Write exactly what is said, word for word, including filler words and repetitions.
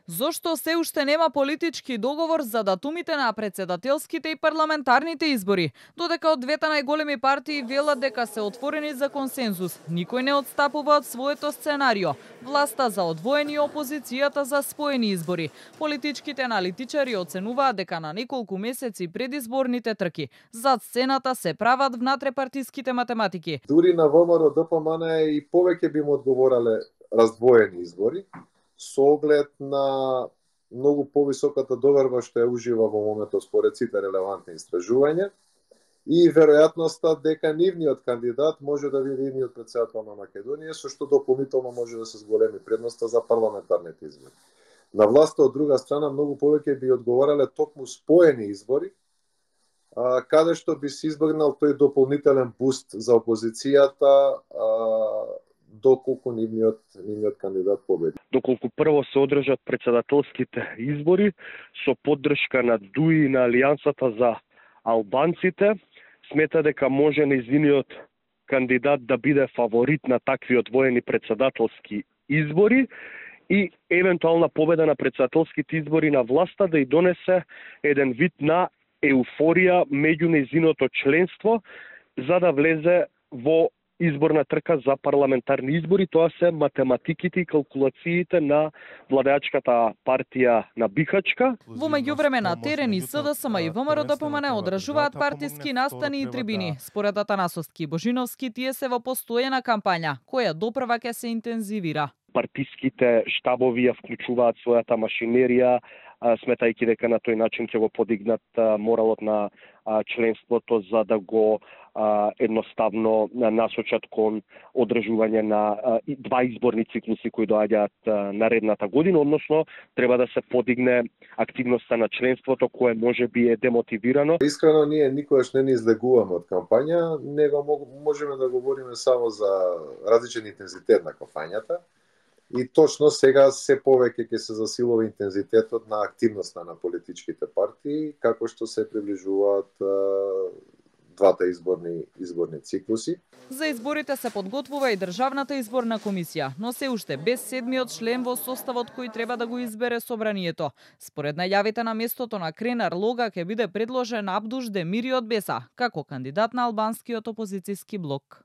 Зошто се уште нема политички договор за датумите на председателските и парламентарните избори? Додека од двете најголеми партии велат дека се отворени за консензус, никој не отстапува од своето сценарио. Власта за одвоени и опозицијата за споени избори. Политичките аналитичари оценуваат дека на неколку месеци пред изборните трки зад сцената се прават внатрепартиските математики. Дури на ВМРО Д П М Н и повеќе би му одговорале раздвоени избори, со оглед на многу повисоката доверба што ја ужива во моментот според сите релевантни истражувања и веројатноста дека нивниот кандидат може да биде идниот претседател на Македонија, со што дополнително може да се зголеми предноста за парламентарните избори. На власта од друга страна многу повеќе би одговорале токму споени избори, каде што би се избегнал тој дополнителен буст за опозицијата доколку нивниот, нивниот кандидат победи. Доколку прво се одржат председателските избори со поддршка на Д У И и на Алијансата за албанците, смета дека може нејзиниот кандидат да биде фаворит на такви одвоени председателски избори и евентуална победа на председателските избори на власта да и донесе еден вид на еуфорија меѓу нејзиното членство за да влезе во изборна трка за парламентарни избори. Тоа се математиките и калкулациите на владеачката партија на Бихачка. Во меѓувреме на терен и С Д С М и В М Р Д П М Н одржуваат партиски настани и трибини. Според Атанасовски и Божиновски, тие се во постојана кампања, која допрва ќе се интензивира. Партиските штабови ја вклучуваат својата машинерија, сметајќи дека на тој начин ќе го подигнат моралот на членството за да го едноставно насочат кон одржување на два изборни циклуси кои доаѓаат наредната година, односно треба да се подигне активноста на членството кое може би е демотивирано. Искрено ние никогаш не ни излегуваме од кампања, него можеме да говориме само за различен интензитет на кампањата. И точно сега се повеќе ќе се засилува интензитетот на активноста на политичките партии, како што се приближуваат двата изборни изборни циклуси. За изборите се подготвува и Државната изборна комисија, но се уште без седмиот член во составот кој треба да го избере собранието. Според најавите на местото на Кренар Лога ќе биде предложен Абдуш Демири од Беса како кандидат на албанскиот опозицијски блок.